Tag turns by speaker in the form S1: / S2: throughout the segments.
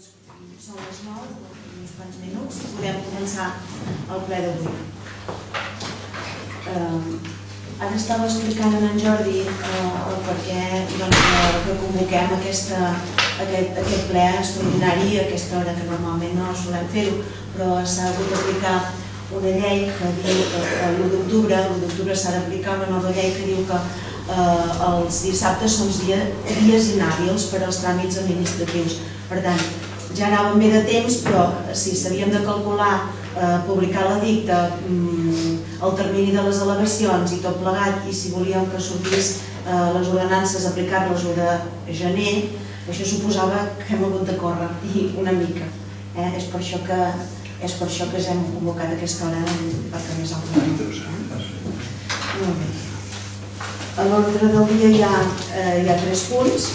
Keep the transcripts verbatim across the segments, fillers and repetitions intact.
S1: Doncs són les nou, uns quants minuts, i podem començar el ple d'avui. Ara estava explicant en Jordi el per què que convoquem aquest ple extraordinari a aquesta hora, que normalment no solem fer-ho, però s'ha hagut d'aplicar una llei que diu que l'u d'octubre l'u d'octubre s'ha d'aplicar una nova llei que diu que els dissabtes són dies inhàbils per als tràmits administratius. Per tant, ja anàvem bé de temps, però si s'havíem de calcular, publicar l'edicte, el termini de les al·legacions i tot plegat, i si volíem que sortís les ordenances, aplicar-les l'u de gener, això suposava que hem hagut de córrer, i una mica. És per això que és per això que ens hem convocat a aquesta hora perquè més altra. Molt bé. A l'ordre del dia hi ha tres punts.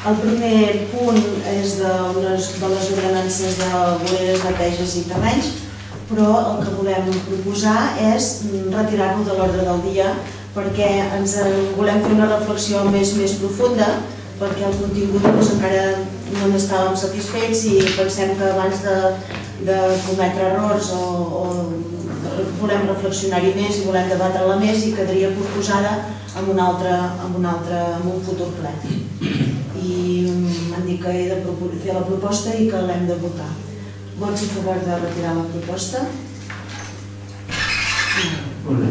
S1: El primer punt és de les ordenances de voreres, neteges i terrenys, però el que volem proposar és retirar-lo de l'ordre del dia perquè ens volem fer una reflexió més profunda, perquè el contingut encara no n'estàvem satisfets i pensem que abans de cometre errors volem reflexionar-hi més i volem debatre-la més i quedaria proposada en un futur ple. I m'han dit que he de fer la proposta i que l'hem de votar. Vots a favor de retirar la proposta?
S2: Molt bé.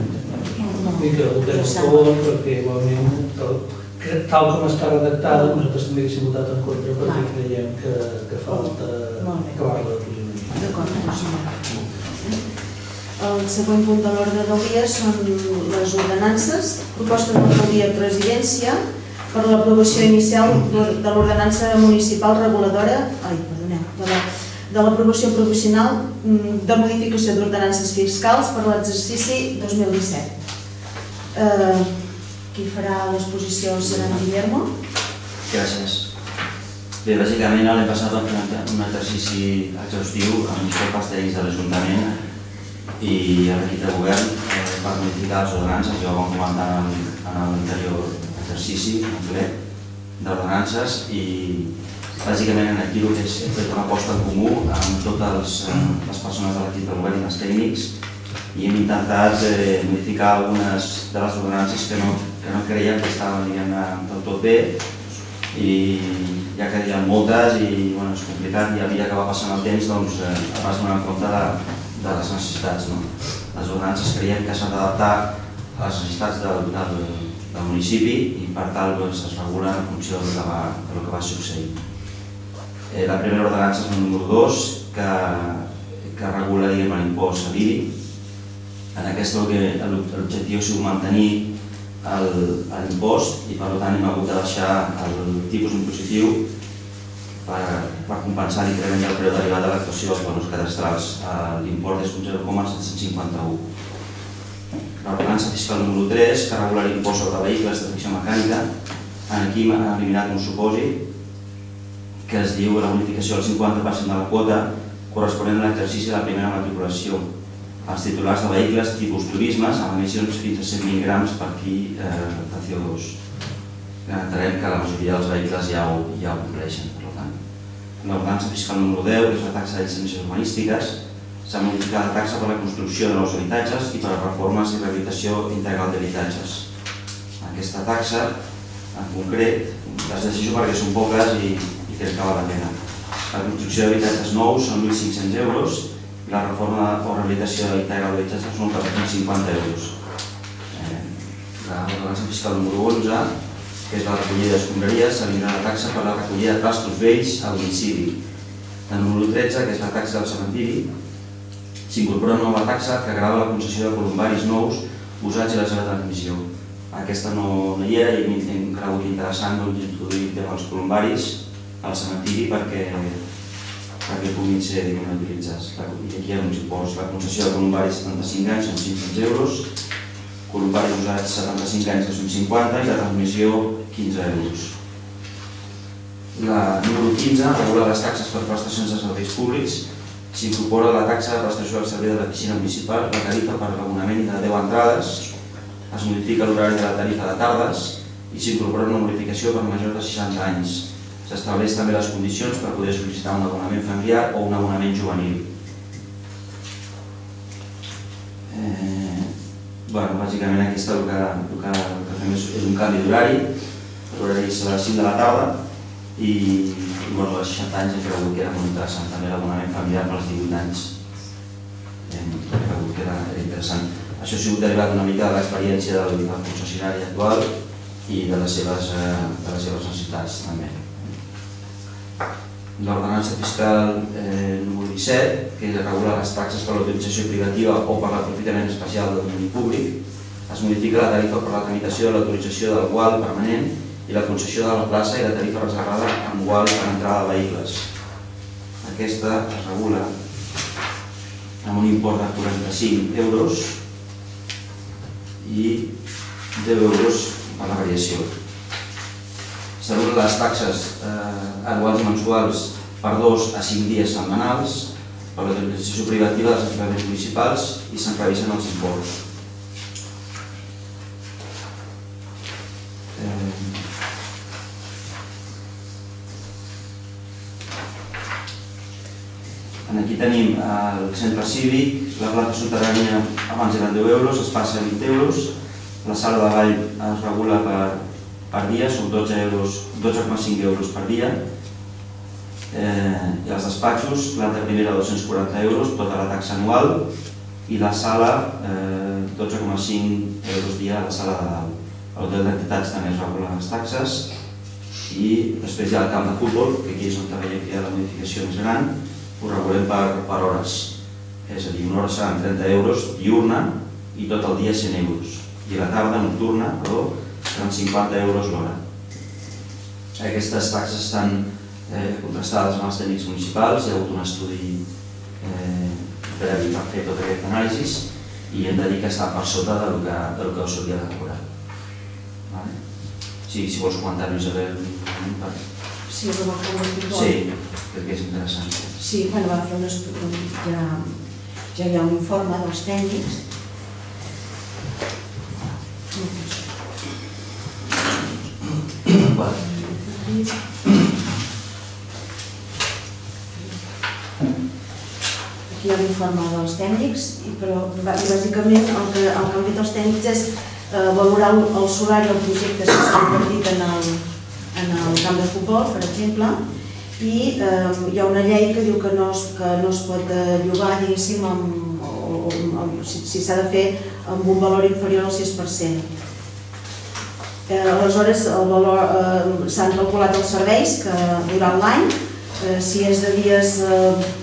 S2: I que votem a favor perquè igualment, tal com està redactada, nosaltres també haguéssim votat en contra perquè creiem que falta acabar-la de posicionar.
S1: D'acord, posicionar. El següent punt de l'ordre del dia són les ordenances. Proposta d'alcaldia i presidència per l'aprovació inicial de l'ordenança municipal reguladora de l'aprovació provisional de modificació d'ordenances fiscals per l'exercici dos mil disset. Qui farà l'exposició serà en Guillermo.
S3: Gràcies. Bé, bàsicament l'any passat vam fer un exercici exhaustiu amb els pasteris de l'Ajuntament i l'equip de govern per modificar les ordenances. Ja ho vam comentar en l'anterior exercici complet d'ordenances i bàsicament aquí el que és fer una aposta en comú amb totes les persones de l'equip de govern i els tècnics i hem intentat modificar algunes de les ordenances que no creiem que estaven del tot bé i ja que hi ha moltes i és complicat i a mesura que va passant el temps es va donar compte de les necessitats. Les ordenances creiem que s'han d'adaptar a les necessitats del municipi i per tal es regulen en funció del que va succeir. La primera ordenança és el número dos que regula l'impost a l'I B I. En aquesta l'objectiu ha sigut mantenir l'impost i per tant hem hagut de baixar el tipus impositiu per compensar l'increment del preu derivat de l'actuació dels bons cadastrals. L'import és un zero coma set-cents cinquanta-u. L'ordenança fiscal número tres, que regula l'impost sobre vehicles de tracció mecànica. Aquí hem eliminat un supòsit que es diu la bonificació del cinquanta per cent de la quota corresponent a l'exercici de la primera matriculació als titulars de vehicles tipus turismes amb emissions fins a cent vint grams per quil de C O dos. Entenem que la majoria dels vehicles ja ho compleixen. L'ordenança fiscal número deu, que és la taxa d'incendències urbanístiques, s'ha modificat la taxa per la construcció de nous habitatges i per a reformes i rehabilitació integral d'habitatges. Aquesta taxa, en concret, les decisions perquè són poques i crec que val la pena. La construcció d'habitatges nous són mil cinc-cents euros i la reforma o rehabilitació integral d'habitatges són quatre-cents cinquanta euros. L'ordenança fiscal número onze, que és la recollida d'escombraries, s'eliminarà la taxa per la recollida de trastos vells a domicili. La número tretze, que és la taxa del cementiri, s'incorpora una nova taxa que grava la concessió de columbaris nous usats i la seva transmissió. Aquesta no hi era i hem cregut interessant introduir el tema dels columbaris al cementiri perquè puguin ser utilitzats. Aquí hi ha uns imposts. La concessió de columbaris setanta-cinc anys són cinc-cents euros, columbaris usats setanta-cinc anys que són cinquanta i la transmissió quinze euros. La número quinze regula les taxes per prestacions de serveis públics. S'incorpora la taxa de prestació del servei de la piscina municipal, la tarifa per l'abonament de deu entrades, es modifica l'horari de la tarifa de tardes i s'incorpora una modificació per majors de seixanta anys. S'estableix també les condicions per poder sol·licitar un abonament familiar o un abonament juvenil. Bàsicament aquest el que fem és un canvi d'horari. L'horari és a les cinc de la tarda i als seixanta anys hem cregut que era molt interessant també l'abonament familiar per als divuit anys. Hem cregut que era interessant. Això ha sigut derivat una mica de l'experiència del concessionari actual i de les seves necessitats també. L'ordenança fiscal número disset, que regula les taxes per l'autorització privativa o per l'aprofitament especial del domini públic, es modifica la tarifa per la tramitació de l'autorització del gual permanent i la concessió de la plaça i la tarifa reservada amb gual per entrada de vehicles. Aquesta es regula amb un import de quaranta-cinc euros i deu euros per la variació. S'anulen les taxes anuals i mensuals per dos a cinc dies setmanals per l'autorització privativa dels equipaments municipals i se'n revisen els imports. Aquí tenim el centre cívic, la plaça subterrània abans eren deu euros, es passa a vint euros, la sala de ball es regula per dia, són dotze coma cinc euros per dia, i els despatxos, planta primera dos-cents quaranta euros, tota la taxa anual, i la sala dotze coma cinc euros dia a la sala de dalt. A l'hotel d'entitats també es regulen les taxes i després hi ha el camp de futbol, que aquí és on veiem que hi ha la modificació més gran, ho regulem per hores, és a dir, una hora seran trenta euros diurna i tot el dia cent euros, i la tarda nocturna, perdó, seran cinquanta euros l'hora. Aquestes taxes estan contrastades amb els tècnics municipals, hi ha hagut un estudi previ per fer tot aquest anàlisi i hem de dir que està per sota del que s'hauria de cobrar. Si vols comentar-ho, Isabel.
S1: Sí, però va fer un estudi.
S3: Sí, perquè és interessant.
S1: Sí, va fer un estudi, ja hi ha un informe dels tècnics. Aquí hi ha l'informe dels tècnics, però bàsicament el que han fet els tècnics és valorar el solar i el projecte que s'ha invertit en el camp de futbol, per exemple, i hi ha una llei que diu que no es pot llogar, diguéssim, si s'ha de fer amb un valor inferior al sis per cent. Aleshores, s'han calculat els serveis durant l'any, si és de dies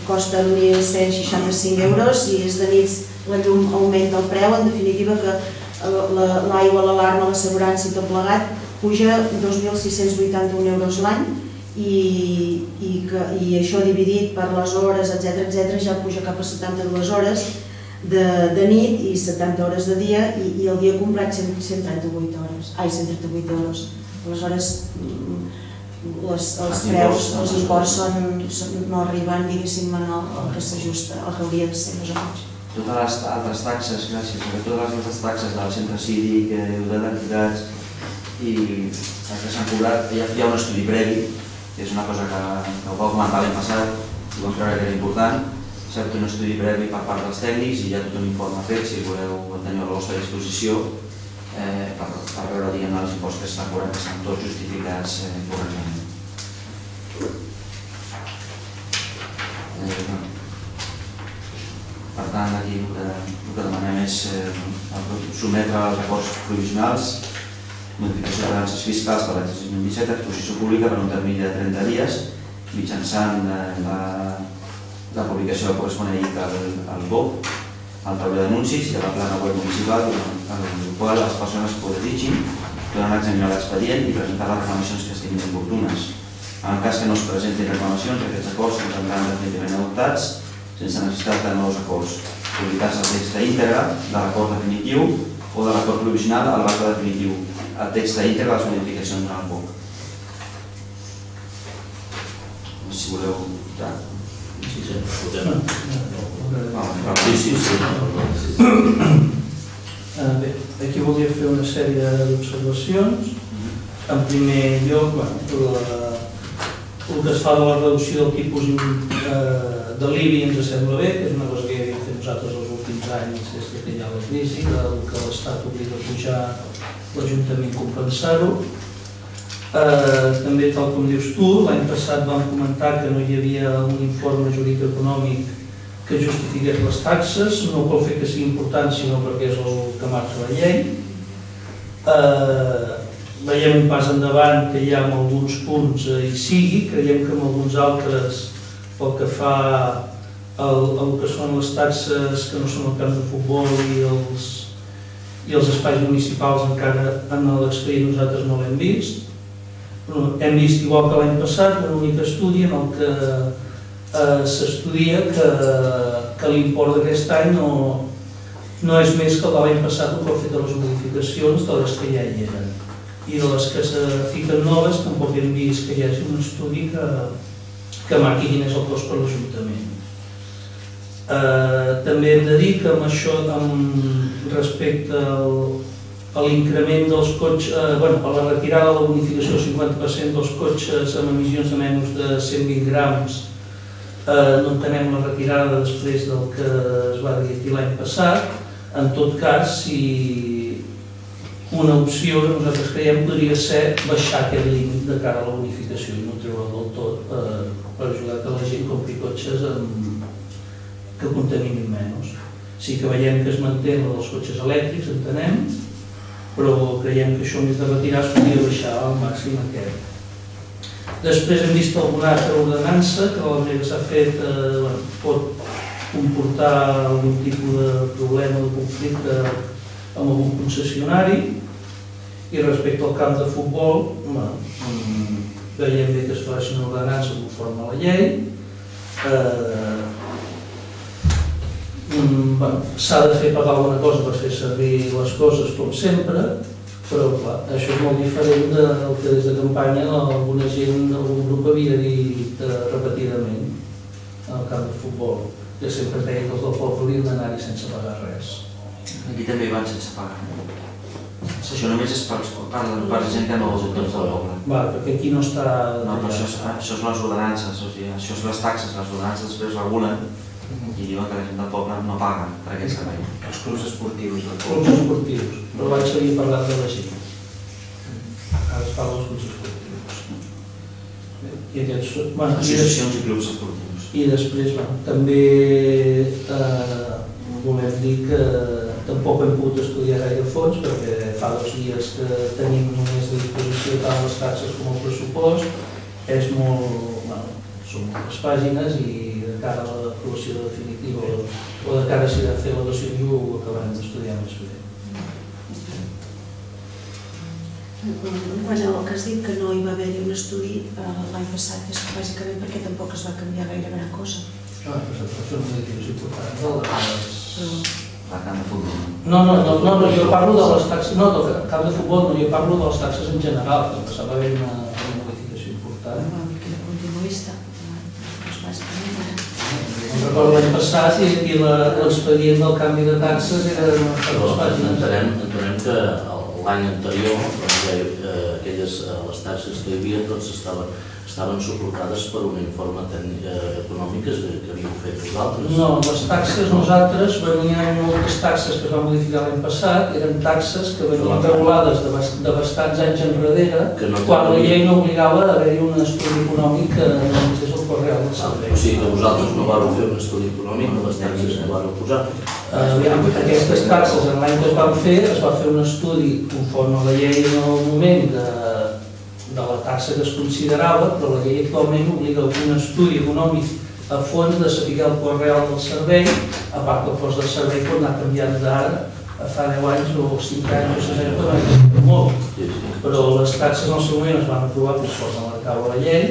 S1: costa mil cent seixanta-cinc euros, si és de nits la llum augmenta el preu, en definitiva que l'aigua, l'alarma, l'assegurança i tot plegat puja dos mil sis-cents vuitanta-un euros l'any i això dividit per les hores, etcètera, ja puja cap a setanta-dues hores de nit i setanta hores de dia i el dia complet cent trenta-vuit hores. Ai, cent trenta-vuit euros. Aleshores, els preus, els imports no arriben, diguéssim, al que s'ajusta, al que hauria de ser més o menys.
S3: Totes les altres taxes, gràcies, totes les altres taxes del centre cívic, de d'entitats i que s'han cobrat, hi ha un estudi previ, que és una cosa que ho vau comentar l'any passat i vam creure que era important. S'ha fet un estudi previ per part dels tècnics i hi ha tot un informe fet, si voleu tenir a la vostra disposició, per veure els imports que s'estan cobrant, que estan tots justificats correctament. Per tant, aquí el que demanem és sotmetre els acords provisionals, modificació de balances fiscals per l'exercici dos mil disset, exposició pública per un termini de trenta dies, mitjançant la publicació del corresponent al B O P, al tauler d'anuncis i a la plana web municipal, en el qual les persones que ho desitgin poden examinar l'expedient i presentar les reclamacions que estiguin oportunes. En el cas que no es presentin reclamacions, aquests acords s'entendran definitivament adoptats sense necessitat de nous acords, publicats el text íntegre de l'acord definitiu o de l'acord provisional al acte definitiu, el text íntegre de les modificacions en el B O P. No sé si voleu votar.
S4: Sí, sí, votem.
S3: Sí, sí, sí.
S2: Bé, aquí volia fer una sèrie d'observacions. En primer lloc, el que es fa de la reducció del tipus de l'I B I ens sembla bé, que és una cosa que ja havíem fet nosaltres els últims anys des que hi ha la crisi, el que l'Estat obliga a pujar l'Ajuntament compensar-ho. També, tal com dius tu, l'any passat vam comentar que no hi havia un informe jurídic econòmic que justifiqués les taxes, no pel fet que sigui important, sinó perquè és el que marca la llei. Veiem un pas endavant que hi ha en alguns punts hi sigui, creiem que en alguns altres, pel que fa al que són les taxes que no són el camp de futbol i els i els espais municipals encara en l'expedient nosaltres no l'hem vist. Hem vist, igual que l'any passat, un únic estudi en el que s'estudia que l'import d'aquest any no és més que l'any passat que ha fet les modificacions de les que ja hi eren. I de les que se fiquen noves tampoc hem vist que hi hagi un estudi que marqui quin és el cost per l'Ajuntament. També hem de dir que amb això, respecte a l'increment dels cotxes, a la retirada de la bonificació del cinquanta per cent dels cotxes amb emissions de menys de cent vint grams, no entenem la retirada després del que es va dir aquí l'any passat. En tot cas, si una opció que nosaltres creiem podria ser baixar aquest límit de cara a la bonificació i no treure del tot per ajudar que la gent compri cotxes que contaminin menys. Sí que veiem que es manté la dels cotxes elèctrics, entenem, però creiem que això més de retirar es podria baixar al màxim aquest. Després hem vist alguna altra ordenança que la manera que s'ha fet pot comportar algun tipus de problema o de conflicte amb algun concessionari. I respecte al camp de futbol, veiem bé que es faci una ordenança conforme a la llei. S'ha de fer pagar alguna cosa per fer servir les coses com sempre, però clar, això és molt diferent del que des de campanya alguna gent, algun grup havia dit repetidament al camp de futbol, que sempre deia que els del poble haurien d'anar-hi sense pagar res.
S3: Aquí també hi van sense pagar. Això només és per la gent que no els autors del poble.
S2: Va, perquè aquí no està...
S3: No, però això és les ordenances, això és les taxes, les ordenances després regulen i diuen que la gent del poble no paga per aquest servei. Els clubs esportius del poble.
S2: Clubs esportius, però abans s'havia parlat de la gent. Ara es parla dels clubs esportius.
S3: Associacions i clubs esportius.
S2: I després, també volem dir que tampoc hem pogut estudiar gaire a fons perquè fa dos dies que tenim només a disposició tant les taxes com el pressupost. És molt... són moltes pàgines i de cara a l'aprovació definitiva o de cara a si de fer la dació ho acabarem d'estudiar més bé.
S1: Quan el que has dit que no hi va haver-hi un estudi l'any passat és bàsicament perquè tampoc es va canviar gaire gran cosa.
S2: No, però són modificacions importants.
S3: La camp de futbol.
S2: No, no, no, jo parlo de les taxes, no, del camp de futbol, no, jo parlo de les taxes en general, que passava a haver una modificació important.
S1: Una mica continuista, bàsicament.
S2: Recordo l'any passat i l'expedient del canvi de taxes era unes dues pàgines.
S4: Entenem que l'any anterior, aquelles les taxes que hi havia, tots estaven suportades per un informe econòmic que havíem fet nosaltres.
S2: No, les taxes nosaltres venien moltes taxes que es van modificar l'any passat, eren taxes que venien regulades de bastants anys enrere, quan la llei no obligava a haver-hi un estudi econòmic que només és el cost real del servei.
S4: O sigui que vosaltres no vareu fer un estudi econòmic de les taxes que vareu posar?
S2: Aquestes taxes, en l'any que es van fer, es va fer un estudi conforme a la llei en el moment de la taxa que es considerava, però la llei actualment obliga un estudi econòmic a fons de saber el cost real del servei, a part que el cost del servei pot anar canviant d'ara a fa deu anys o cinc anys o set anys, que van canviar molt. Però les taxes en el seu moment es van aprovar conforme marcava la llei,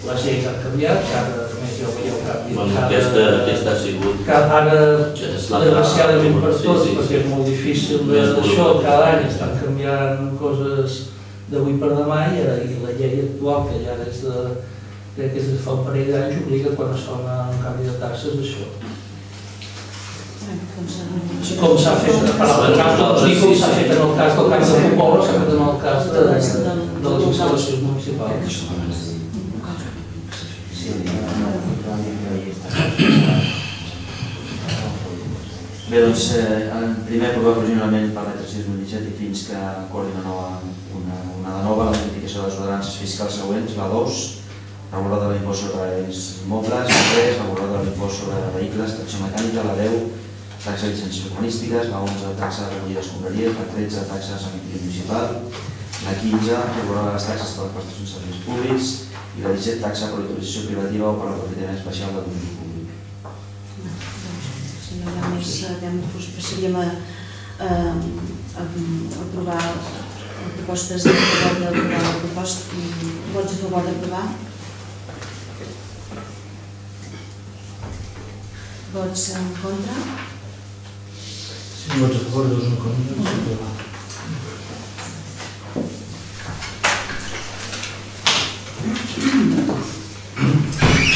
S2: les lleis han canviat, que ara només ja ho veieu canvi.
S4: Aquesta ha sigut...
S2: Ara, desgraciadament per tots, perquè és molt difícil d'això, cada any estan canviant coses d'avui per demà i la llei actual, que ja des de, crec que és de fa un parell d'anys, obliga quan es fa un canvi de taxes d'això. Com s'ha fet en el cas del camp de futbol, s'ha fet en el cas de les instal·lacions municipals.
S3: Bé, doncs, primer aprovar provisionalment per l'exercici dos mil disset i fins que acordi una de nova la modificació de les ordenances fiscals següents, la dos, reguladora de l'impost sobre béns immobles, la tres, reguladora de l'impost sobre vehicles, tracció mecànica, la deu, taxa de llicències urbanístiques, la onze, taxa de recollida d'escombraries, la tretze, taxa de cementiri municipal, la quinze, reguladora de les taxes per les prestacions de serveis públics i la disset, taxa per autorització privativa o per l'aprofitament especial del domini públic.
S1: Si no hi ha més temps, passaríem a aprovar propostes a favor d'aprovar la proposta. Vots a favor d'aprovar? Vots en contra?
S2: Sí, vots a favor, dos en contra.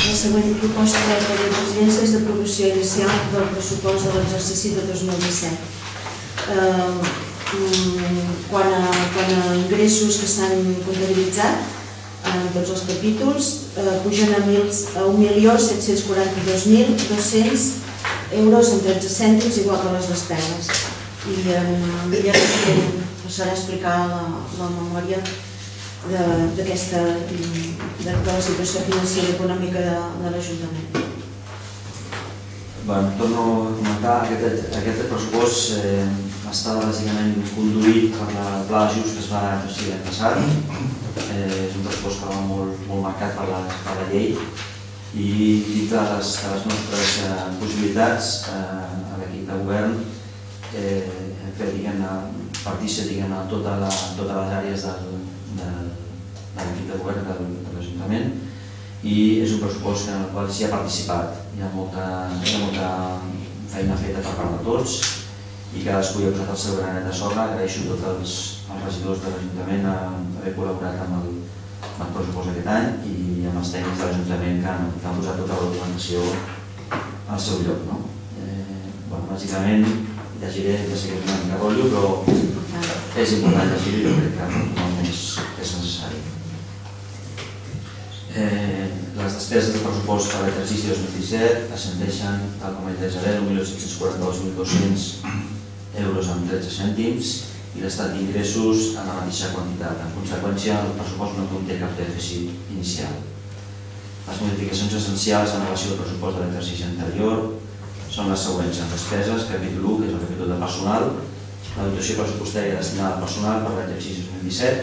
S1: La següent proposta de la presidència és d'aprovació inicial del pressupost de l'exercici de dos mil disset. Quant a ingressos que s'han comptabilitzat en tots els capítols, pugen a un milió set-cents quaranta-dos mil dos-cents euros amb tretze cèntims, igual que les despeses. I ja passaré a explicar la memòria de la situació financera i econòmica de l'Ajuntament.
S3: Torno a comentar, aquest pressupost està bàsicament conduït per el pla d'ajust que es va exercir l'any passat. És un pressupost que va molt marcat per la llei i dit de les nostres possibilitats a l'equip de govern hem fet partícip en totes les àrees de l'equip de govern de l'Ajuntament i és un pressupost en el qual s'hi ha participat. Hi ha molta feina feta per part de tots i cadascú hi ha posat el seu granet de sorra. Agraeixo a tots els regidors de l'Ajuntament haver col·laborat amb el pressupost aquest any i amb els tècnics de l'Ajuntament que han posat tota la documentació al seu lloc. Bàsicament, llegiré, ja sé que és una mica rotllo, però és important llegir-ho i jo crec que no és necessari. Les despeses del pressupost per l'exercici dos mil disset ascendeixen, tal com he dit, a un milió set-cents quaranta-dos mil dos-cents euros amb tretze cèntims i l'estat d'ingressos en la mateixa quantitat. En conseqüència, el pressupost no conté cap dèficit inicial. Les modificacions essencials en relació al pressupost de l'exercici anterior són les següents. En despeses, capítol u, que és el capítol de personal, la dotació pressupostària destinada al personal per l'exercici dos mil disset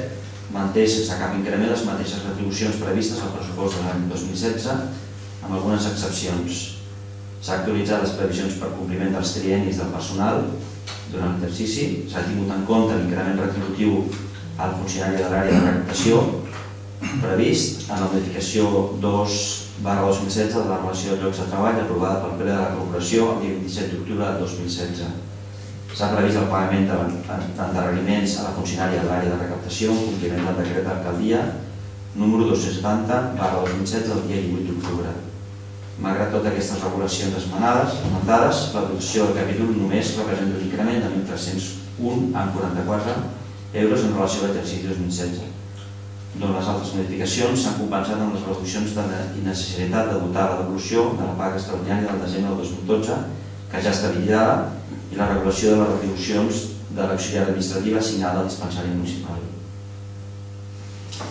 S3: manté sense cap increment les mateixes retribucions previstes al pressupost de l'any dos mil setze, amb algunes excepcions. S'ha actualitzat les previsions per compliment dels triennis del personal durant l'exercici, s'ha tingut en compte l'increment retributiu al funcionari de l'àrea de recaptació previst en la modificació dos barra dos mil setze de la relació de llocs de treball aprovada pel ple de la Corporació el dia vint-i-set d'octubre de dos mil setze. S'ha previst el pagament d'endarreriments a la funcionària de l'àrea de recaptació en compliment del decret d'alcaldia número dos-cents setanta barra dos mil setze del dia divuit d'octubre. Malgrat totes aquestes regulacions esmentades, la dotació del capítol només representa un increment de mil tres-cents un coma quaranta-quatre euros en relació a l'exercici dos mil setze, d'on les altres modificacions s'han compensat amb les reduccions de la innecessitat de dotar la devolució de la paga extraordinària del desembre del dos mil dotze, que ja està liquidada, i la regulació de les retribucions de l'auxiliar administrativa assignada al dispensari municipal.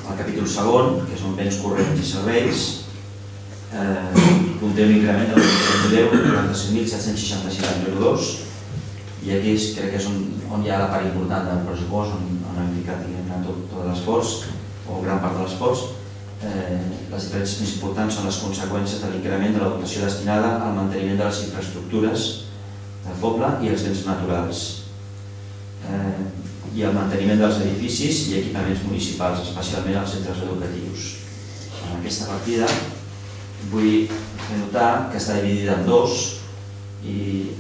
S3: El capítol segon, que són béns corrents i serveis, conté un increment de quaranta-set mil set-cents seixanta-sis coma zero dos i aquí crec que és on hi ha la part important del pressupost, on hem ficat tot l'esforç, o gran part de l'esforç. Les diferències més importants són les conseqüències de l'increment de la dotació destinada al manteniment de les infraestructures del poble i els béns naturals i el manteniment dels edificis i equipaments municipals, especialment als centres educatius. En aquesta partida vull fer notar que està dividida en dos i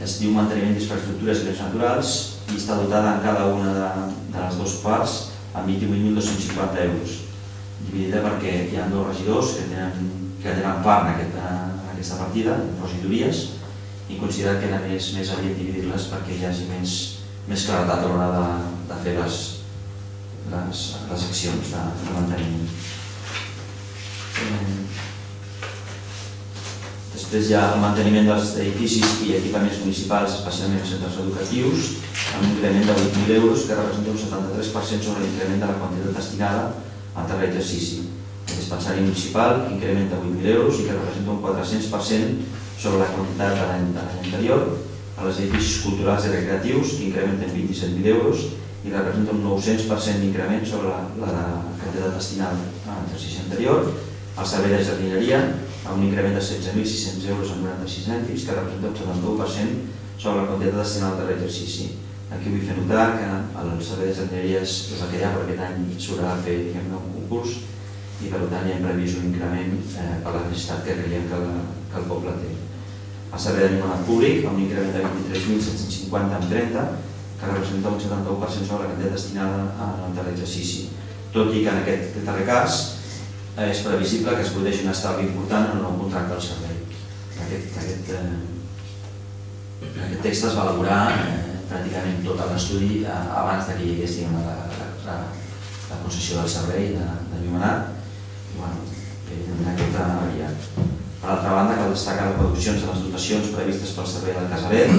S3: es diu manteniment d'infraestructures i béns naturals i està dotada en cada una de les dues parts amb vint-i-vuit mil dos-cents cinquanta euros, dividida perquè hi ha dos regidors que tenen part en aquesta partida, en regidories, i considerat que era més adient dividir-les perquè hi hagi més claretat a l'hora de fer les accions de manteniment. Després hi ha el manteniment dels edificis i equipaments municipals, especialment els centres educatius, amb un increment de vuit mil euros, que representa un setanta-tres per cent sobre l'increment de la quantitat destinada al darrer exercici. El dispensari municipal incrementa vuit mil euros i que representa un quatre-cents per cent sobre la quantitat de l'any anterior. Els edificis culturals i recreatius, que incrementen vint-i-set mil euros i representa un nou-cents per cent d'increment sobre la quantitat destinada a l'exercici anterior. El servei de jardineria, amb un increment de setze mil sis-cents euros amb noranta-sis cèntims, que representa un setanta-u per cent sobre la quantitat destinada al darrer exercici. Aquí vull fer notar que el servei de jardineria és el que hi ha, perquè aquest any s'haurà de fer un concurs i per tant hi hem previst un increment per la necessitat que creiem que el poble té. El servei d'animat públic, amb un increment de vint-i-tres mil set-cents cinquanta amb trenta, que representa un setanta-u per cent sobre la quantitat destinada al darrer exercici. Tot i que en aquest darrer cas és previsible que es produeixi un estalvi important en el nou contracte del servei. Aquest text es va elaborar pràcticament tot l'estudi abans que hi hagués la concessió del servei d'enllumenat i evidentment aquest ha variat. Per altra banda, cal destacar les reduccions de les dotacions previstes pel servei del Casalet,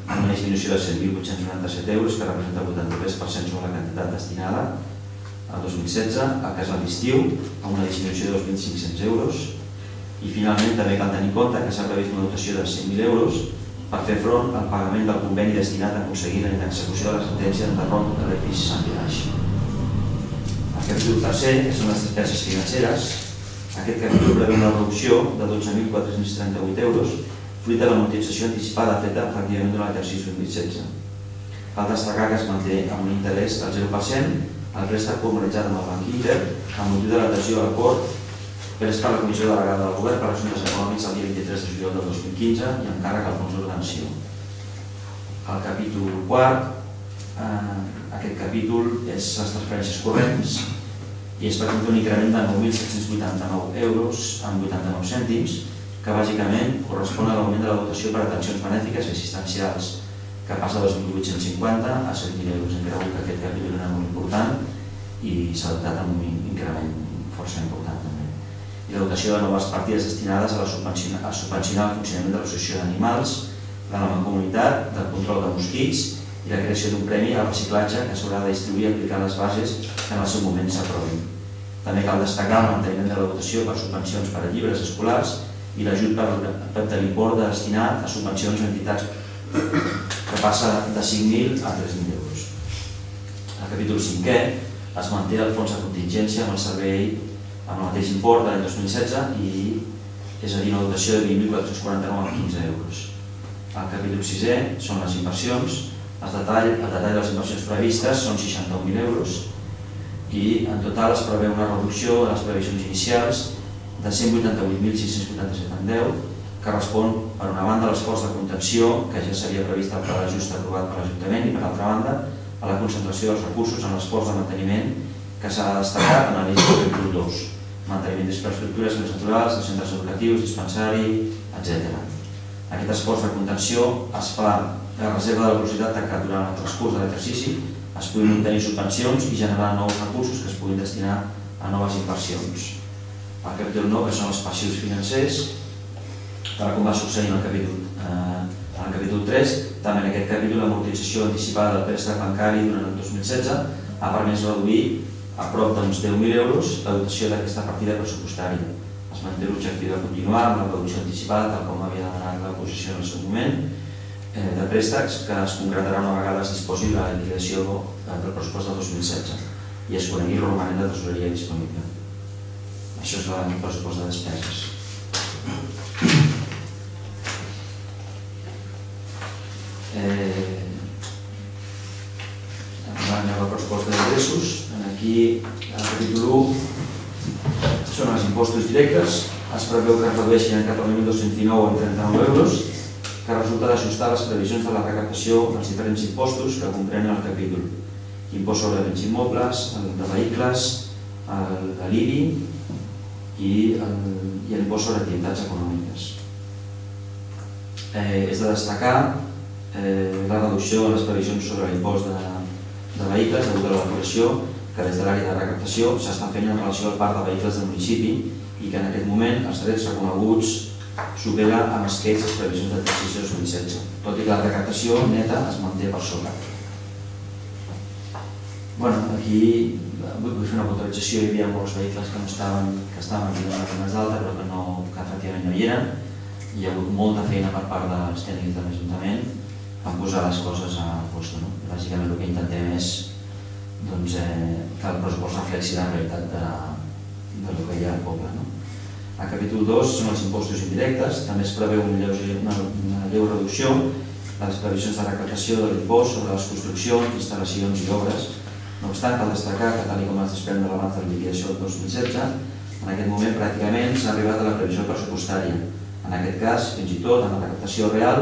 S3: amb una disminució de set mil vuit-cents noranta-set euros, que representa el vuitanta-tres per cent sobre la quantitat destinada al dos mil setze, el Casal d'Estiu, amb una disminució de dos mil cinc-cents euros. I finalment també cal tenir en compte que s'ha previst una dotació de cent mil euros per fer front al pagament del conveni destinat a aconseguir la execució de la sentència d'enderroc de l'edifici Sant Piraix. El capítol tercer, que són les despeses financeres, aquest capítol preveu una reducció de dotze mil quatre-cents trenta-vuit euros fruit de l'amortització anticipada feta efectivament durant l'exercici dos mil setze. Cal destacar que es manté amb un interès del zero per cent el préstec formalitzat amb el Banc Inter amb motiu de l'adhesió a l'acord pres per la Comissió Delegada del Govern per Assumptes Econòmics el dia vint-i-tres de juliol del dos mil quinze i amb càrrec al fons d'ordenació. El capítol quart, aquest capítol és les transferències corrents i es presenta un increment de nou mil set-cents vuitanta-nou euros amb vuitanta-nou cèntims, que bàsicament correspon a l'augment de la dotació per atencions benèfiques i assistencials, que passa de dos mil vuit-cents cinquanta a set mil euros. Hem cregut que aquest capítol era molt important i s'ha dotat amb un increment força important també. I la dotació de noves partides destinades a subvencionar el funcionament de l'associació d'animals, de la mancomunitat, del control de mosquits i la creació d'un premi al reciclatge que s'haurà de distribuir i aplicar les bases que en el seu moment s'aprovin. També cal destacar el manteniment de la dotació per subvencions per a llibres escolars i l'ajut de l'import destinat a subvencions a entitats que passa de cinc mil a tres mil euros. Al capítol cinquè es manté el fons de contingència amb el servei amb el mateix import de l'any dos mil setze i és a dir, una dotació de vint mil quatre-cents quaranta-nou coma quinze euros. Al capítol sisè són les inversions. El detall de les inversions previstes són seixanta-un mil euros i en total es preveu una reducció de les previsions inicials de cent vuitanta-vuit mil sis-cents vuitanta-set coma deu, que respon per una banda a l'esforç de contenció que ja s'havia previst al pla d'ajust aprovat per l'Ajuntament i per altra banda a la concentració dels recursos en l'esforç de manteniment que s'ha de destacar en l'anell del capítol dos, manteniment d'infraestructures més naturals, de centres educatius, dispensari, etcètera. Aquest esforç de contenció es fa a reserva de la velocitat que durant el transcurs de l'exercici es puguin obtenir subvencions i generar nous recursos que es puguin destinar a noves inversions. El capítol nou, que són els passius financers, tal com va succeir en el capítol, eh, en el capítol tres, també en aquest capítol l'amortització anticipada del préstec bancari durant el dos mil setze ha permès reduir a prop d'uns deu mil euros la dotació d'aquesta partida pressupostària. Es manté l'objectiu de continuar amb la reducció anticipada, tal com havia demanat l'oposició en el seu moment, de préstecs que es concretarà una vegada es disposi la liquidació del pressupost del dos mil setze i es conegui el romanent de tresoreria disponible. Això és el pressupost de despeses. Anem al pressupost d'ingressos. Aquí, al capítol u, són els impostos directes. Es preveu que es redueixin en catorze mil dos-cents dinou en trenta-nou euros, que resulta d'ajustar les previsions de la recaptació dels diferents impostos que comprenen el capítol. Impost sobre béns immobles, el de vehicles, l'I B I i l'impost sobre activitats econòmiques. És de destacar la reducció de les previsions sobre l'impost de vehicles degut a l'elaboració que des de l'àrea de recaptació s'està fent en relació al parc de vehicles del municipi i que en aquest moment els drets reconeguts supera amb esquets les previsions d'exercici dos mil setze, tot i que la recaptació neta es manté per sobre. Aquí vull fer una puntualització. Hi havia molts vehicles que estaven aquí a les zones d'alta, però que efectivament no hi eren. Hi ha hagut molta feina per part dels tècnics de l'Ajuntament per posar les coses a post. Bàsicament el que intentem és que el pressupost reflexi la realitat del que hi ha al poble. A capítol dos són els impostos indirectes. També es preveu una lleu reducció de les previsions de recaptació de l'impost sobre les construccions, instal·lacions i obres. No obstant, cal destacar que, tal com es desprèn de l'abans de la liquidació del dos mil setze, en aquest moment pràcticament s'ha arribat a la previsió pressupostària. En aquest cas, fins i tot, en la recaptació real,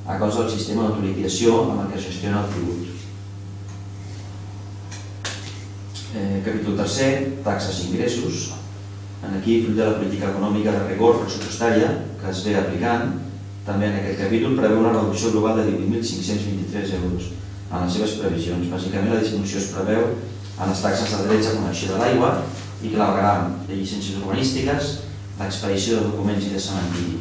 S3: a causa del sistema d'autoliquidació amb el que es gestiona el tribut. Capítol tercer, taxes i ingressos. Aquí, fruit de la política econòmica de rigor pressupostària que es ve aplicant, també en aquest capítol preveu una reducció global de divuit mil cinc-cents vint-i-tres euros en les seves previsions. Bàsicament, la disminució es preveu en les taxes de drets a connexió de l'aigua i clavegram de llicències urbanístiques, l'expedició de documents i de cementiri.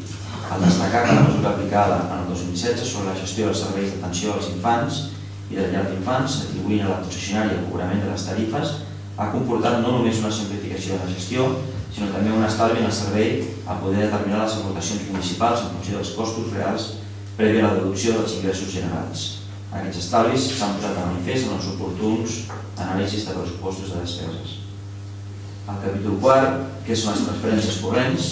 S3: Al destacar que la mesura aplicada en el dos mil setze sobre la gestió dels serveis d'atenció als infants i de llar d'infants, atribuint a la concessionària el cobrament de les tarifes, ha comportat no només una simplificació de la gestió, sinó també un estalvi en el servei a poder determinar les aportacions municipals en funció dels costos reals prèvia a la deducció dels ingressos generals. Aquests estalvis s'han posat de manifest en els oportuns anàlisis de pressupostos de despeses. Al capítol quart, que són les transferències corrents,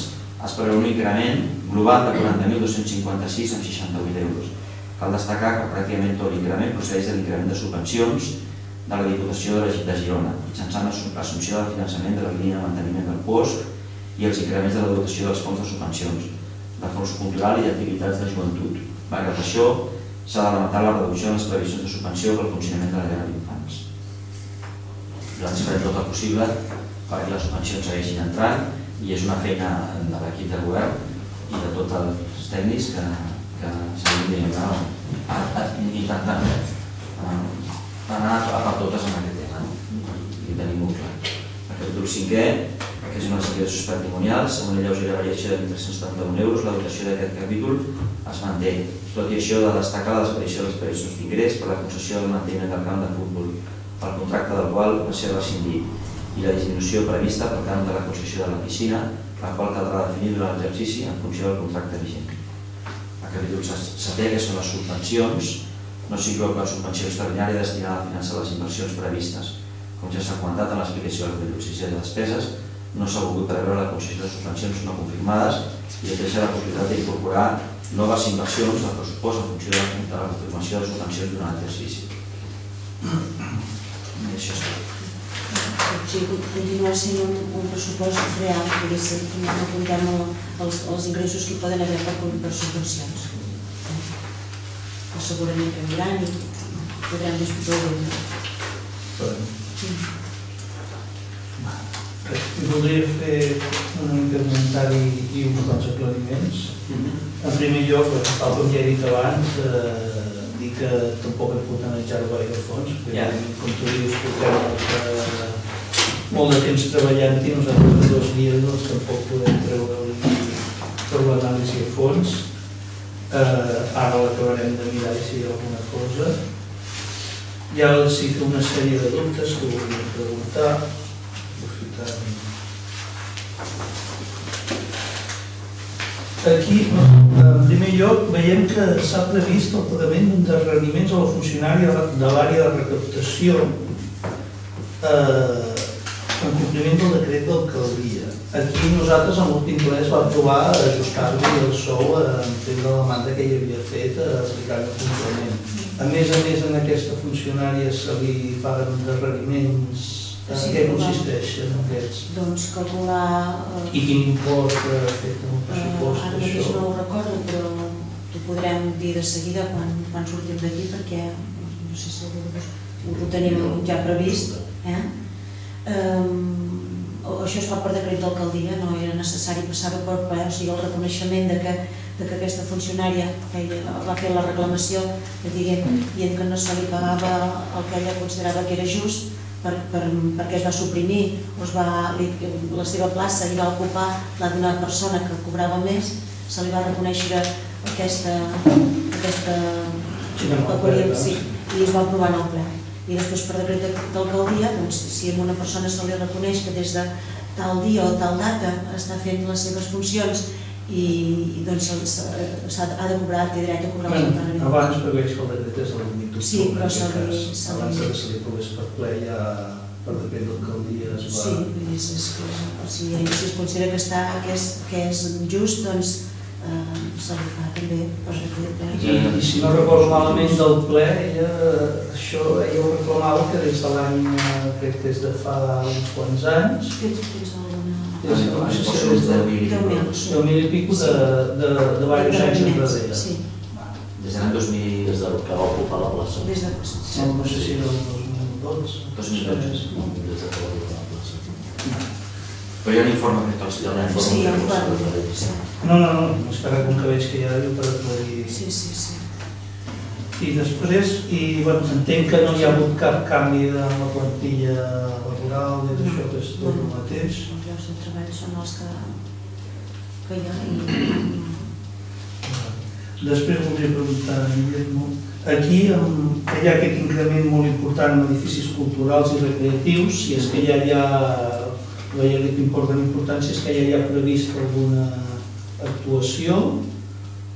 S3: es preveu un increment global de quaranta mil dos-cents cinquanta-sis coma seixanta-vuit euros. Cal destacar que pràcticament tot l'increment procedeix de l'increment de subvencions de la Diputació de Girona, mitjançant l'assumpció del finançament de la línia de manteniment del P O S i els increments de la dotació dels fons de subvencions, de fons cultural i d'activitats de joventut. Malgrat això, s'ha de lamentar la reducció en les previsions de subvenció pel funcionament de la llar d'infants. Nosaltres farem tot el possible perquè les subvencions segueixin entrant i és una feina de l'equip de govern i de tots els tècnics que seguim intentant anar a per totes en aquest tema i tenim molt clar. El capítol cinquè, que són els ingressos patrimonials, amb una lleugera variació de mil tres-cents setanta-un euros, la dotació d'aquest capítol es manté. Tot i això, de destacar la desaparició de les previsions d'ingrés per la concessió del manteniment del camp de futbol, pel contracte del qual va ser rescindit, i la disminució prevista pel camp de la concessió de la piscina, la qual caldrà definir durant l'exercici en funció del contracte vigent. El capítol setè, que són les subvencions, no s'inclou cap subvenció extraordinària destinada a finançar les inversions previstes. Com ja s'ha comentat en l'explicació del capítol sisè de despeses, no s'ha volgut preveure la concessió de subvencions no confirmades i es deixa la possibilitat d'incorporar noves inversions al pressupost en funció de la confirmació de subvencions durant l'exercici. I això és tot.
S1: Sí, continua sent un pressupost real, perquè no comptem els ingressos que hi poden haver per subvencions. Segurament canviaran i podrem discutir-ho.
S2: Voldria fer un comentari i uns quants aclariments. En primer lloc, tal com ja he dit abans, dir que tampoc hem pogut analitzar-ho gaire a fons, perquè com tu dius, portem molt de temps treballant-hi, nosaltres en dos dies tampoc podem treure per l'anàlisi a fons. Ara l'acabarem de mirar si hi ha alguna cosa. Ja sí que una sèrie de dubtes que volia preguntar. Aquí, en primer lloc, veiem que s'ha previst el pagament d'endarreriments a la funcionària de l'àrea de recaptació en compliment del decret d'alcaldia. Aquí nosaltres en l'últim ple es va aprovar ajustar-li el sou en temps de la demanda que hi havia fet aplicant el complement. A més a més, en aquesta funcionària se li paguen endarreriments. En què consisteixen aquests?
S1: Doncs calcular...
S2: I quin import afecta el pressupost?
S1: Ara mateix no ho recordo, però t'ho podrem dir de seguida quan sortim d'aquí perquè no sé si ho tenim ja previst. Això es fa per decret d'alcaldia, no era necessari passar-ho per ple, o sigui, el reconeixement que aquesta funcionària va fer la reclamació dient que no se li pagava el que ella considerava que era just perquè es va suprimir, la seva plaça i va ocupar la d'una persona que cobrava més, se li va reconèixer aquesta peculiaritat i es va aprovar en el ple. I després per decret d'alcaldia, si a una persona se li reconeix que des de tal dia o tal data està fent les seves funcions i ha de cobrar, té dret a cobrar el salari.
S2: Abans, perquè veig que el decret és el vint d'octubre.
S1: Sí, però se li...
S2: Abans que se li aprovés per ple ja per decret d'alcaldia es va...
S1: Sí, vull dir, si es considera que és just, doncs se li fa també per decret.
S2: I si no recordo malament del ple, això ella ho reclamava que des de l'any, crec que és de fa uns quants anys,
S3: deu
S2: mil i pico de diversos anys enrere.
S3: Des de l'any dos mil...
S4: Des del que va ocupar la plaça.
S2: No sé si era el dos mil dotze.
S3: dos mil dotze.
S4: Des de que va ocupar la plaça.
S3: Però hi ha un informe que tots hi ha un informe.
S2: No, no, no, és que ara com que veig que hi ha per aclarir...
S1: Sí, sí, sí.
S2: I després, entenc que no hi ha hagut cap canvi en la plantilla laboral i d'això que és tot el mateix.
S1: Els llocs de treball són els que hi ha i...
S2: Després voldria preguntar a Guillermo, aquí hi ha aquest increment molt important en edificis culturals i recreatius, si és que ja hi ha, veia que importen importància, és que ja hi ha previst alguna actuació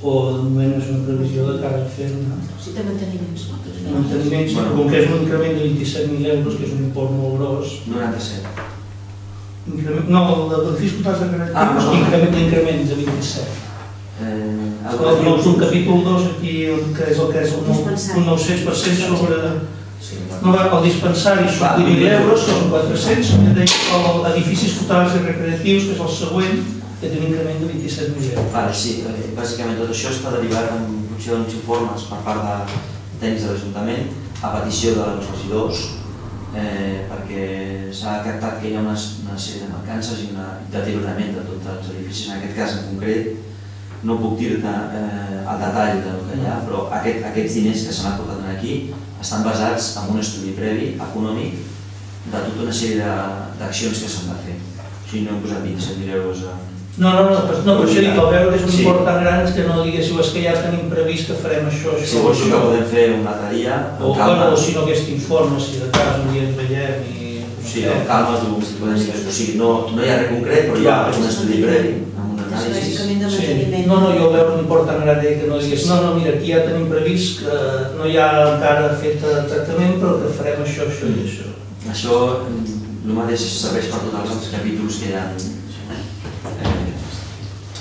S2: o de moment és una previsió de cara a fer-ne?
S1: Sí, de manteniments.
S2: Manteniments, com que és un increment de vint-i-set mil euros, que és un import molt gros.
S3: noranta-set.
S2: No, l'edifici culturals recreatius, increment de vint-i-set. Un capítol dos aquí, que és el que és un nou-cents per cent sobre... El dispensari són vuit mil euros, que són quatre-cents, edificis culturals i recreatius, que és el següent, que té un increment de vint-i-set mil euros.
S3: Sí, bàsicament tot això està derivat en funció d'uns informes per part de tècnics de l'Ajuntament a petició dels regidors perquè s'ha detectat que hi ha una sèrie de mancances i un deteriorament de tots els edificis. En aquest cas en concret no puc dir-te el detall del que hi ha, però aquests diners que s'han aportat aquí estan basats en un estudi previ econòmic de tota una sèrie d'accions que s'han de fer. O sigui, no hem posat vint-i-set mil euros a...
S2: No, no, no, però això dic, al veure que és un import tan gran que no diguéssiu és que ja tenim previst que farem això, això...
S3: Sí, això que podem fer un altre dia,
S2: amb calma. O si no aquest informe, si de cas un dia ens veiem i...
S3: Sí, amb calma, tu podem dir que o sigui, no hi ha res concret, però hi ha un estudi previ, amb un anàlisi.
S2: No, no, jo al veure un import tan gran que no digués no, no, mira, aquí ja tenim previst que no hi ha encara fet tractament, però que farem això, això i això.
S3: Això, el mateix serveix per tots els altres capítols que hi ha.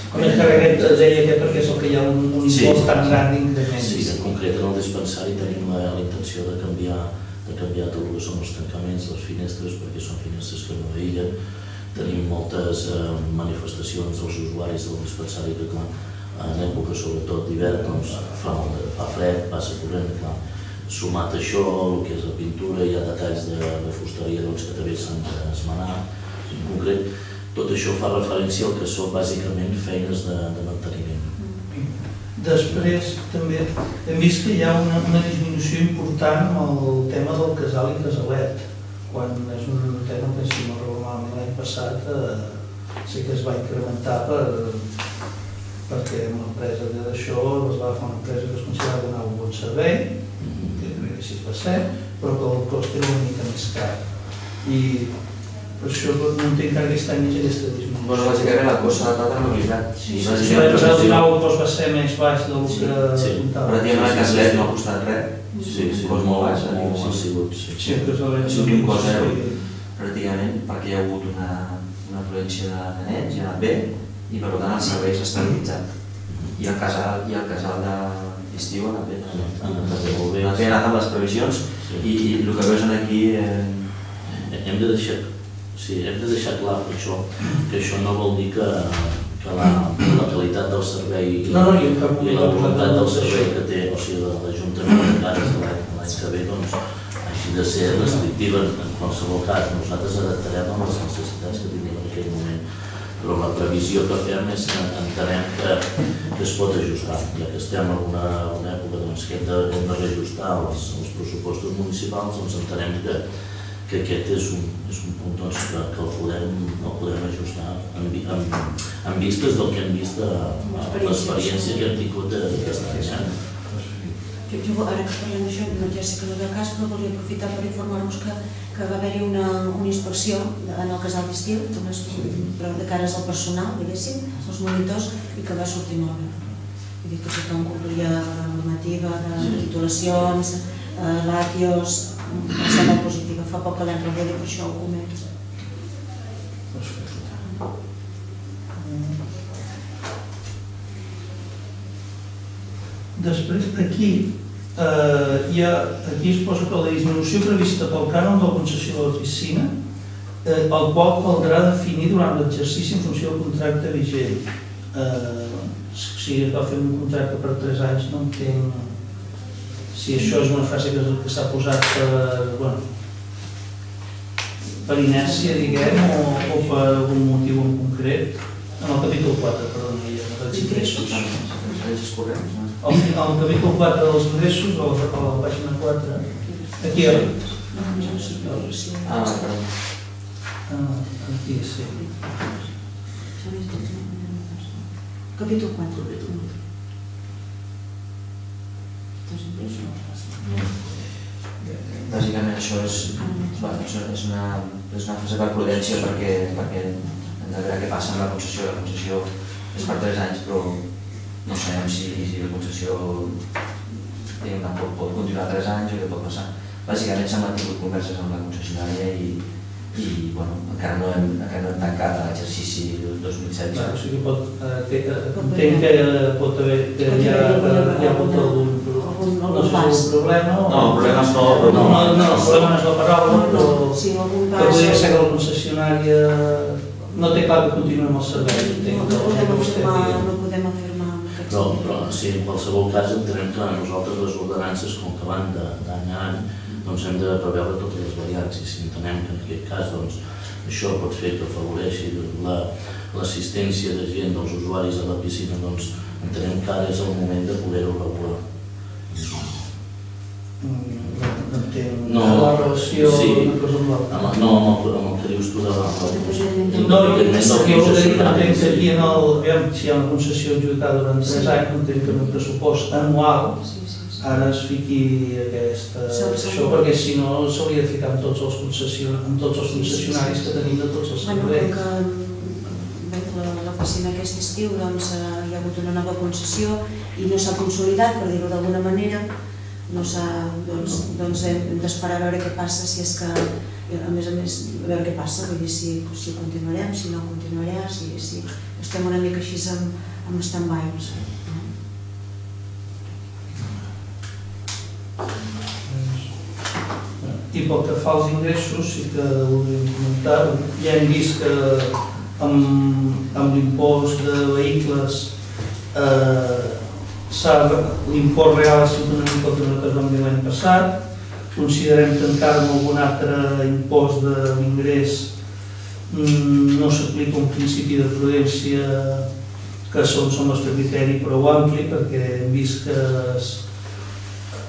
S2: Com és que aquest deia que perquè és el que hi ha un import tan gran d'increment.
S4: Sí, en concret en el dispensari tenim la intenció de canviar tot el que són els tancaments, les finestres, perquè són finestres que no aïllen. Tenim moltes manifestacions dels usuaris del dispensari que, clar, en època sobretot d'hivern, fa fred, passa corrent, clar. Sumat a això, el que és la pintura, hi ha detalls de fusteria que també s'han d'esmenar. En concret, tot això fa referència al que són bàsicament feines de manteniment.
S2: Després també hem vist que hi ha una disminució important amb el tema del casal i casalet, quan és un tema que si no recordo malament l'any passat sí que es va incrementar perquè l'empresa d'això es va fer una empresa que es considerava donar un bon servei, que crec que així va ser, però que el cost era una mica més car. I per això no entenc que aquest any hi hagi aquesta disminució.
S3: Bueno, bàsicament la cosa de la mobilitat.
S2: Si l'any passat al final el cost va ser més baix del que comptava.
S3: Pràcticament el casalet no ha costat res.
S4: Sí,
S3: un cost molt baix.
S4: Ha sigut,
S3: sí. Ha sigut un cost zero, pràcticament, perquè hi ha hagut una afluència de nens, hi ha anat bé, i per tant el servei s'ha estabilitzat. I el casal d'estiu ha anat bé. Ha anat amb les previsions i el que veus aquí...
S4: Hem de deixar Sí, hem de deixar clar per això que això no vol dir que la qualitat del servei i la voluntat del servei que té l'Ajuntament de l'any que ve hagi de ser restrictiva en qualsevol cas. Nosaltres adaptarem a les necessitats que tinguem en aquell moment, però la previsió que fem és que entenem que es pot ajustar, ja que estem en una època que hem de reajustar els pressupostos municipals, doncs entenem que que aquest és un punt que el podem ajustar en en vistes del que hem vist de l'experiència que hem tingut aquest any.
S1: Jo, ara que parlem d'això, ja sé que no ve el cas, però volia aprofitar per informar-vos que va haver-hi una inspecció en el casal d'estiu, però de cares al personal, diguéssim, els monitors, i que va sortir molt bé. Vull dir que tothom complia la normativa de titulacions, làtios, va ser molt positiva. Fa poc que l'hem rebut i per això ho comento.
S2: Després, aquí, aquí es posa que la disminució prevista pel cànon de la concessió de la piscina, el qual caldrà definir durant l'exercici en funció del contracte vigent. Si es va fer un contracte per tres anys, no entenc si això és una frase que s'ha posat per inèrcia, diguem, o per algun motiu en concret. En el capítol quatre, perdó, hi ha els ingressos. Al capítol quatre dels ingressos, a la pàgina quatre, aquí hi ha...
S3: Ah, perdó.
S2: Aquí, sí.
S1: Capítol quatre.
S3: Bàsicament això és una fase per prudència perquè hem de veure què passa amb la concessió. La concessió és per tres anys, però no sabem si la concessió pot continuar tres anys o què pot passar. Bàsicament s'han mantingut converses amb la concessionària i encara no hem tancat l'exercici del dos mil setze.
S2: O sigui que entenc que pot haver, que hi ha hagut algun problema.
S3: No, el problema és no...
S2: No, el problema no és la paraula, però que podria ser que la concessionària no té clar que continuï amb el servei.
S1: No podem afirmar.
S4: Però sí, en qualsevol cas entenem que nosaltres les ordenances, com que van d'any a any, doncs hem de preveure totes les variants i si entenem que en aquest cas això pot fer que afavoreixi l'assistència de gent, dels usuaris a la piscina, doncs entenem que ara és el moment de poder-ho regular.
S2: No, la relació una cosa amb l'altra.
S4: No, amb el que dius tu de la...
S2: No, jo el que dic entenc que aquí si hi ha una concessió adjudicada durant tres anys, entenc que en un pressupost anual ara es fiqui això, perquè si no s'hauria de ficar amb tots els concessionaris que tenim de tots els serveis.
S1: L'oficina aquest estiu hi ha hagut una nova concessió i no s'ha consolidat, per dir-ho d'alguna manera, doncs hem d'esperar a veure què passa, si és que, a més a més, a veure què passa, vull dir si continuarem, si no continuarem, si estem una mica així amb stand-by.
S2: I pel que fa als ingressos, sí que voldríem comentar, ja hem vist que amb l'impost de vehicles l'import real ha sigut una mica el que es vam dir l'any passat. Considerem que encara amb algun altre impost de l'ingrés no s'aplica un principi de prudència que segons el nostre criteri prou ampli, perquè hem vist que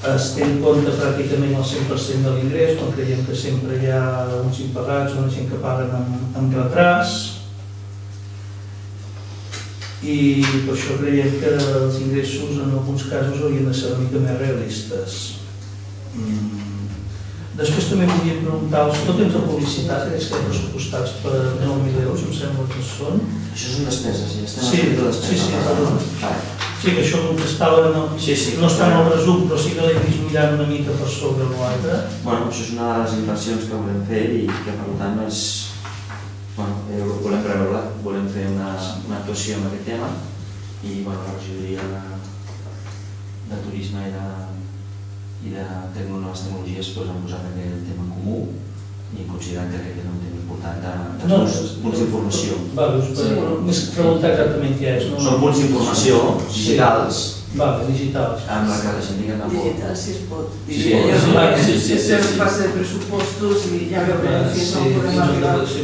S2: es té en compte pràcticament el cent per cent de l'ingrés, quan creiem que sempre hi ha uns impagats o una gent que paguen amb retras, i per això creiem que els ingressos en alguns casos haurien de ser una mica més realistes. Després també volíem preguntar-vos, tot temps de publicitat, aquells que hi ha pressupostats per nou mil euros, em sembla que són...
S3: Això són despeses, ja estem
S2: Sí,
S3: a les
S2: sí,
S3: despeses.
S2: Sí, que això contestava, no està en el resum, però sí que l'he vist mirant una mica per sobre l'altre.
S3: Bueno, això és una de les inversions que volem fer i que per tant és... Bueno, volem preveure, volem fer una actuació en aquest tema i la regidoria de turisme i de i de noves tecnologies han posat aquest tema en comú i considerant que aquest és un tema important de punts d'informació.
S2: Més que preguntar exactament què és.
S3: Són punts d'informació digitals
S2: digitals
S3: amb la que la gent digui
S5: digitals, si es pot.
S4: Estem
S5: en fase de pressupostos i ja veurem si no podem arribar. Si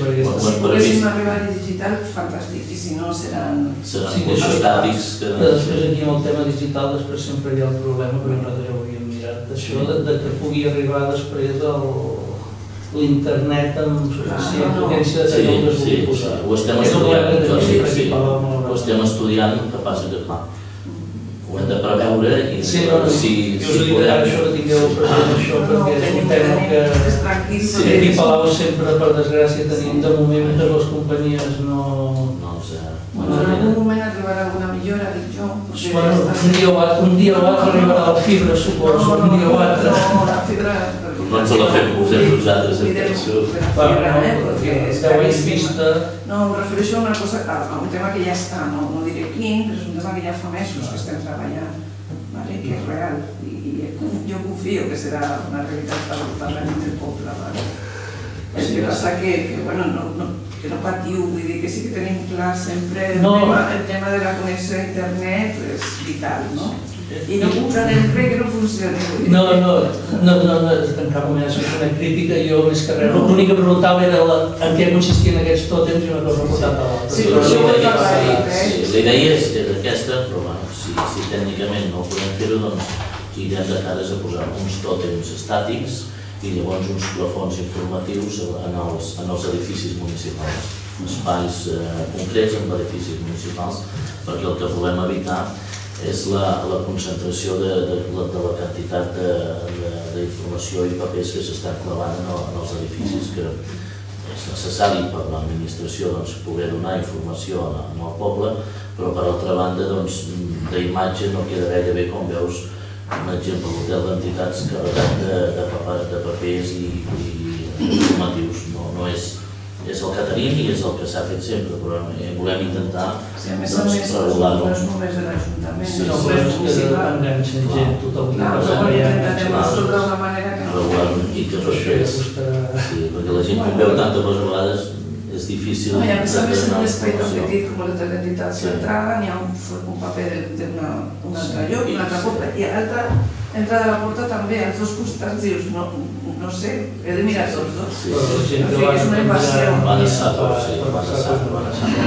S5: poguéssim arribar a digital, fantàstic, i si no seran...
S4: Seran postàdics que...
S2: Després aquí amb el tema digital després sempre hi ha el problema, perquè nosaltres ja ho havíem mirat, d'això que pugui arribar després l'internet amb suficient potència de tenir el que es vulgui posar.
S4: Ho estem estudiant, ho estem estudiant, el que passa que clar, ho hem de preveure i
S2: si us ho dic ara això que tingueu present això perquè és un tema que aquí a Palau sempre per desgràcia tenim de moment que les companyies no...
S5: Bueno, en algun moment arribarà alguna millora, dic jo.
S2: Un dia o altre arribarà la fibra, suposo, un dia o altre.
S5: No, la fibra...
S4: No ens la fem posar nosaltres en tensió.
S2: Deu anys vista...
S5: No, em refereixo a una cosa, a un tema que ja està, no diré quin, però és un tema que ja fa mesos que estem treballant, que és real, i jo confio que serà una realitat per al Parlament del Poble. El que passa que, bueno, no... que no patiu, vull dir que sí que tenim clar sempre el tema de la connexió a internet és vital, no? I no comprarem res que no funcioni.
S2: No, no, no, en cap moment és una crítica, jo més que res. L'únic que preguntava era en què consistien aquests tòtems i una cosa portat a l'altra.
S5: Sí, però això ho he parlat.
S4: La idea és aquesta, però si tècnicament no ho podem fer-ho, doncs irem de cares a posar uns tòtems estàtics i llavors uns plafons informatius en els edificis municipals, espais concrets en edificis municipals, perquè el que volem evitar és la concentració de la quantitat d'informació i papers que s'estan clavant en els edificis, que és necessari per l'administració poder donar informació al poble, però per altra banda d'imatge no queda gaire bé, com veus, un exemple, l'hotel d'entitats carregat de papers i informatius. És el que tenim i és el que s'ha fet sempre, però volem intentar regular-ho.
S5: A més a més, no és només de l'Ajuntament,
S2: no és municipal. Enganxen gent, tothom que passa per allà.
S5: Intentem resoldre d'una manera que no...
S4: Regular-ho i que respectés. Perquè la gent que veu tantes vegades és difícil...
S5: A més a més, en un espai tan petit com l'hotel d'entitats d'entrada n'hi ha un paper d'un altre lloc, una altra porta, i a l'altra entrada de la porta també, als dos costats dius, no sé, he de mirar tots dos. És una invasió.
S4: Va deixar tot, sí, va deixar tot, va deixar tot.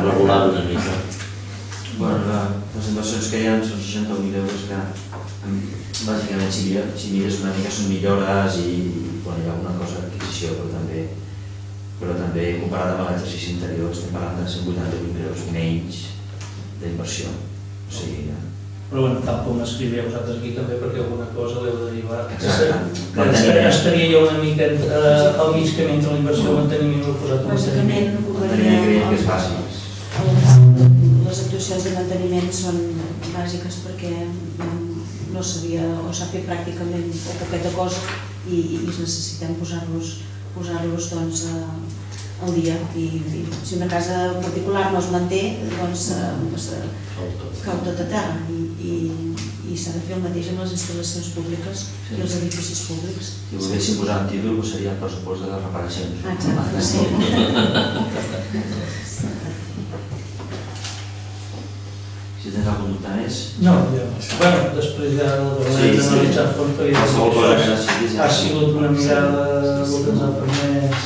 S4: Regular una mica.
S3: Bueno, les inversions que hi ha són seixanta mil euros que bàsicament si mires una mica són millores i hi ha alguna cosa d'adquisició, però també però també comparat amb l'exercici anterior estem parlant de cent vuitanta-vuit mil euros menys d'inversió.
S2: Però bueno, tal com escriveu vosaltres aquí també perquè alguna cosa l'heu de derivar. Estaria jo una mica al mig camí entre la inversió i el manteniment i el posat en
S1: manteniment.
S3: Manteniment que és bàsic.
S1: Les actuacions de manteniment són bàsiques perquè no s'havia o s'ha fet pràcticament poqueta cosa i necessitem posar-los posar-los al dia. Si una casa particular no es manté, doncs cau tot a terra i s'ha de fer el mateix amb les instal·lacions públiques i els edificis públics.
S3: Si volguéssim posar un títol, seria el pressupost de les reparacions.
S1: Exacte, sí.
S3: Si tens algun dubte més?
S2: No, bueno, després ja l'hem analitzat fons perquè ha sigut una mirada el que ens ha permès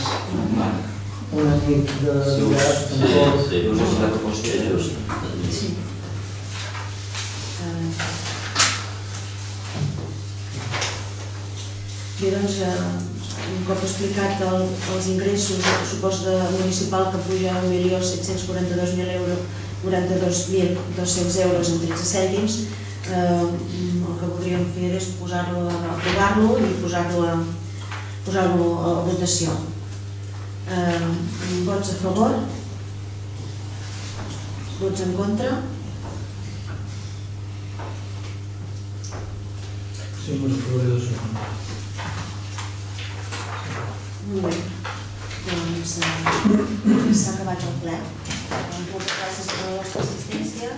S2: una nit de mirar tampoc.
S3: Sí, us has la proposta just.
S1: Sí. Bé, doncs, un cop explicat els ingressos, el pressupost municipal que puja a un milió set-cents quaranta-dos mil euros quaranta-dos mil dos-cents euros en tretze cèntims, el que voldríem fer és posar-lo, aprovar-lo i posar-lo a votació. Vots a favor? Vots en contra?
S2: Sí, molt a favor i dos en contra.
S1: Molt bé. Doncs s'ha acabat el ple. Moltes gràcies per la vostra assistència.